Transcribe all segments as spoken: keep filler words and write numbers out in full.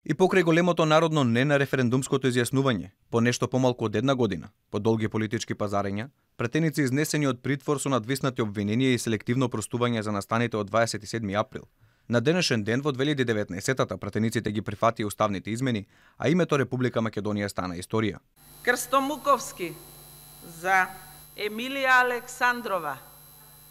И покрај големото народно не на референдумското изјаснување, по нешто помалку од една година, по долги политички пазарења, пратеници изнесени од притвор со надвиснати обвиненија и селективно простување за настаните од дваесет и седми април. На денешен ден во две илјади и деветнаесетта пратениците ги прифати уставните измени, а името Република Македонија стана историја. Крсто Муковски за Емилија Александрова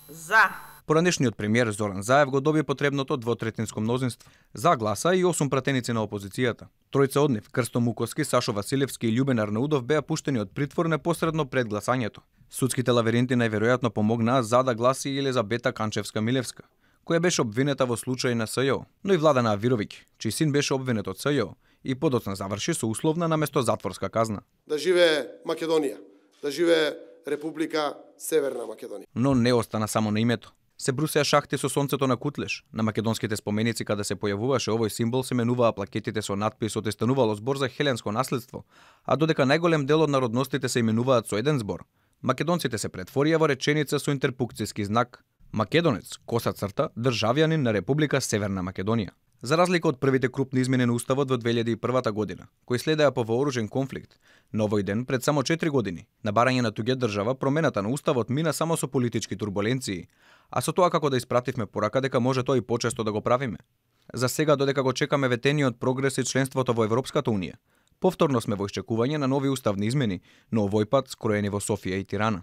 за. Поранешниот премиер Зоран Заев го доби потребното двотретинско мнозинство. За гласа и осум пратеници на опозицијата. Тројца од нив, Крсто Муковски, Сашо Василевски и Љубен Арнаудов, беа пуштени од притвор непосредно пред гласањето. Судските лавиринти најверојатно помогнаа за да гласи и Елизабета Канчевска-Милевска, која беше обвинета во случај на СЈО, но и Владана Авировиќ, чиј син беше обвинет од СЈО и подоцна заврши со условна наместо затворска казна. Да живее Македонија, да живее Република Северна Македонија. Но не остана само на името. Се брусеа шахти со сонцето на Кутлеш. На македонските споменици каде се појавуваше овој символ се менуваа плакетите со надписот и станувало збор за хеленско наследство, а додека најголем дел од народностите се именуваат со еден збор, македонците се претворија во реченица со интерпукцијски знак: Македонец, коса црта, државјанин на Република Северна Македонија. За разлика од првите крупни измени на уставот во две илјади и првата година, кои следеа по вооружен конфликт, на овој ден пред само четири години, на барање на туѓа држава, промената на уставот мина само со политички турбуленции, а со тоа како да испративме порака дека може тоа и почесто да го правиме. За сега, додека го чекаме ветениот прогрес и членството во Европската унија, повторно сме во исчекување на нови уставни измени, но овој пат скроени во Софија и Тирана.